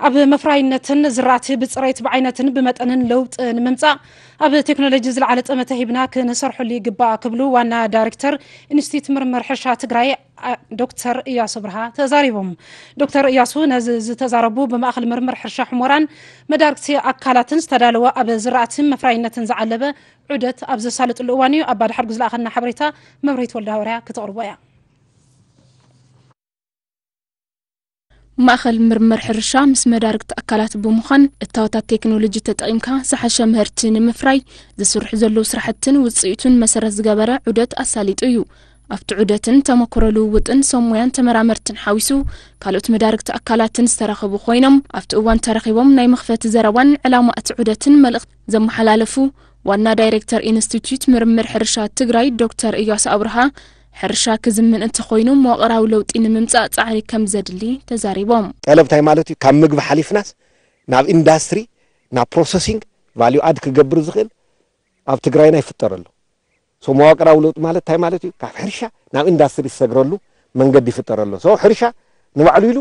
ኣብ መፍራይነትን ዝራእቲ ብፅሬት ብዓይነትን ብመጠንን ለውጢ ንምምፃእ ኣብ ቴክኖሎጂ ዝለዓለ ጠመተ ሂብና ክንሰርሐሉ ይግባእ ክብሉ ዋና ዳይሬክተር ኢንስቲትዩት ምርምር ሕርሻ ትግራይ ዶክተር እያሱ ብርሃ ተዛሪቦም። ዶክተር እያሱ ነዚ ዝተዛረቡ ብማእኸል ምርምር ሕርሻ ሕሞራን መዳርግቲ ኣካላትን ዝተዳለወ ኣብ ዝራእትን መፍራይነትን ዝዓለበ ዑደት ኣብ ዘሳልጥሉ እዋን እዩ። ኣባ ድሓር ዝለኣኸልና ሓበሬታ መብሬት ወልደ ሃዋርያ ክተቕርቦ እያ። ማእኸል ምርምር ሕርሻ ምስ መዳርግቲ ኣካላት ብምዃን እታወታት ቴክኖሎጂ ተጠቒምካ ዝሓሸ ምህርቲ ንምፍራይ ዝስርሑ ዘለዉ ስራሕትን ውፅኢቱን መሰረት ዝገበረ ዑደት ኣሳሊጡ እዩ። ኣብቲ ዑደትን ተመክሮ ልውውጥን ሰብ ሞያን ተመራመርትን ሓዊሱ ካልኦት መዳርግቲ ኣካላትን ዝተረኸቡ ኮይኖም ኣብቲ እዋን ተረኺቦም ናይ መኽፈቲ ዘረባን ዕላማ እቲ ዑደትን መልእኽቲ ዘመሓላለፉ ዋና ዳይሬክተር ኢንስቲትዩት ምርምር ሕርሻ ትግራይ ዶክተር እያሱ ኣብርሃ ሕርሻ ክዝምን እንተኾይኑ መዋቕራዊ ለውጢ ንምምፃእ ፃዕሪ ከም ዘድሊ ተዛሪቦም። ጠለብ እንታይ ማለት እዩ? ካብ ምግቢ ሓሊፍናስ ናብ ኢንዳስትሪ ናብ ፕሮሰሲንግ ቫልዩ ኣድ ክገብር ዝኽእል ኣብ ትግራይና ይፍጠር ኣሎ። ሶ መዋቅራዊ ለውጢ ማለት እንታይ ማለት እዩ? ካብ ሕርሻ ናብ ኢንዳስትሪ ዝሰግረሉ መንገዲ ይፍጠር ኣሎ። ሶ ሕርሻ ንባዕሉ ኢሉ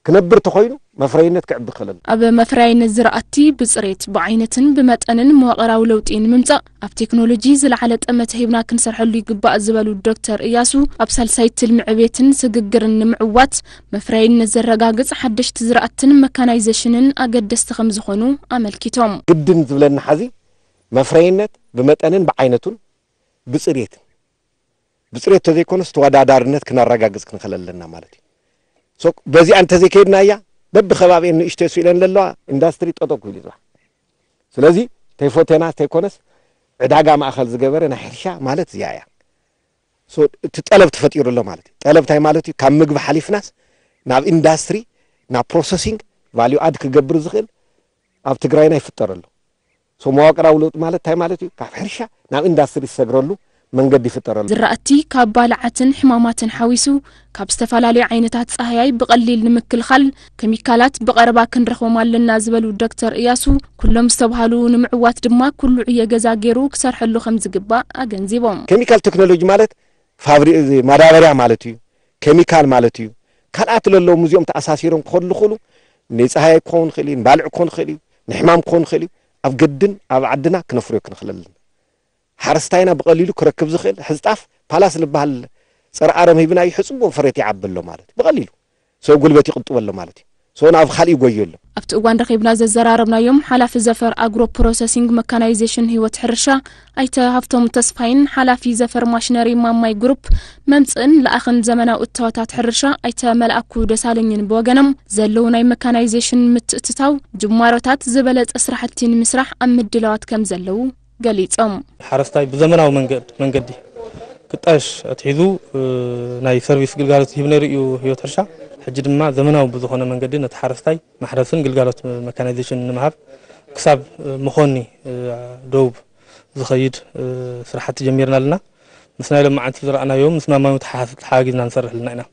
ክነብር ተኾይኑ መፍረይነት ክዕቢ ክእል ኣሎ። ኣብ መፍረያይነት ዝራእቲ ብፅሬት ብዓይነትን ብመጠንን መዋቕራዊ ለውጢ ንምምፃእ ኣብ ቴክኖሎጂ ዝለዓለ ጠመተ ሂብና ክንሰርሐሉ ይግባእ ዝበሉ ዶክተር እያሱ ኣብ ሳልሳይ ትልሚ ዕቤትን ስግግርን ንምዕዋት መፍረያይነት ዘረጋግፅ ሓደሽቲ ዝራእትን መካናይዜሽንን ኣገደስቲ ከምዝኾኑ ኣመልኪቶም። ግድን ዝብለና ሐዚ መፍረይነት ብመጠንን ብዓይነቱን ብፅሬትን ብፅሬት ተዘይኮነስ ተወዳዳርነት ክነረጋግፅ ክንኽእል ኣለና ማለት እዩ። በዚኣ እንተዘይከይድናያ በብከባቢኤን ንእሽተይ ስኢለን ዘለዋ ኢንዳስትሪ ጠጠው ክብል እዩ ፅባሕ። ስለዚ ተይፎቴና ተይኮነስ ዕዳጋ ማእኸል ዝገበረ ናይ ሕርሻ ማለት እዚኣ እያ። እቲ ጠለብ ተፈጢሩ ኣሎ ማለት እዩ። ጠለብ እንታይ ማለት እዩ? ካብ ምግቢ ሓሊፍናስ ናብ ኢንዳስትሪ ናብ ፕሮሰሲንግ ቫልዩ ኣድ ክገብር ዝኽእል ኣብ ትግራይና ይፍጠር ኣሎ። ሶ መዋቅራዊ ለውጢ ማለት እንታይ ማለት እዩ? ካብ ሕርሻ ናብ ኢንዳስትሪ ዝሰግረሉ መንገዲ ይፍጠር ኣሎ። ዝራእቲ ካብ ባልዓትን ሕማማትን ሓዊሱ ካብ ዝተፈላለዩ ዓይነታት ፃህያይ ብቐሊል ንምክልኻል ከሚካላት ብቐረባ ክንረኽቦም ኣለና ዝበሉ ዶክተር እያሱ ኩሎም ዝተብሃሉ ንምዕዋት ድማ ኩሉ ዕዮ ገዛ ገይሩ ክሰርሐሉ ከምዝግባእ ኣገንዚቦም። ኬሚካል ቴክኖሎጂ ማለት ፋብሪ ማዳበርያ ማለት እዩ፣ ኬሚካል ማለት እዩ። ካልኣት ለለዎም እዚኦም ተኣሳሲሮም ክኸዱ ዝኽእሉ ንፀሃያይ ክኸውን ይኽእል እዩ፣ ንባልዕ ክኸውን ይኽእል እዩ፣ ንሕማም ክኸውን ይኽእል እዩ። ኣብ ገድን ኣብ ዓድና ክነፍርዮ ክንኽእል ኣለና። ሓረስታይና ብቐሊሉ ክረክብ ዝኽእል ሕዝጣፍ ፓላስ ዝበሃል ፀረ ኣረም ሂብናዮ ሕፅቦ ፍሬት ይዓቢ ኣሎ ማለት እዩ። ብቐሊሉ ሰብ ጉልበት ይቕጥበሉ ማለት እዩ። ሶ ናብ ካልእ ይጎዩ ኣሎ። ኣብቲ እዋን ረኺብና ዘዘራረብናዮም ሓላፊ ዘፈር ኣግሮ ፕሮሰሲንግ መካናይዜሽን ህይወት ሕርሻ ኣይተ ሃፍቶም ተስፋይን ሓላፊ ዘፈር ማሽነሪ ማማይ ግሩፕ መምፅእን ለኣኽን ዘመናዊ እታወታት ሕርሻ ኣይተ መልኣኩ ደሳለኝን ብወገኖም ዘለዉ ናይ መካናይዜሽን ምትእትታው ጅማሮታት ዝበለፀ ስራሕቲ ንምስራሕ ኣብ ምድላዋት ከም ዘለዉ ገሊፆም። ሓረስታይ ብዘመናዊ መንገዲ ክጣየሽ ኣትሒዙ ናይ ሰርቪስ ግልጋሎት ይህብ ነይሩ እዩ ህይወት ሕርሻ። ሕጂ ድማ ዘመናዊ ብዝኾነ መንገዲ ነቲ ሓረስታይ ማሕረስን ግልጋሎት መካናይዜሽን ንምሃብ ክሳብ መኾኒ ደቡብ ዝኸይድ ስራሕቲ ጀሚርና ኣለና። ምስ ናይ ሎማዓንቲ ዝረኣናዮ ምስማማዊ ተሓጋጊዝና ንሰርሕ ኣለና ኢና።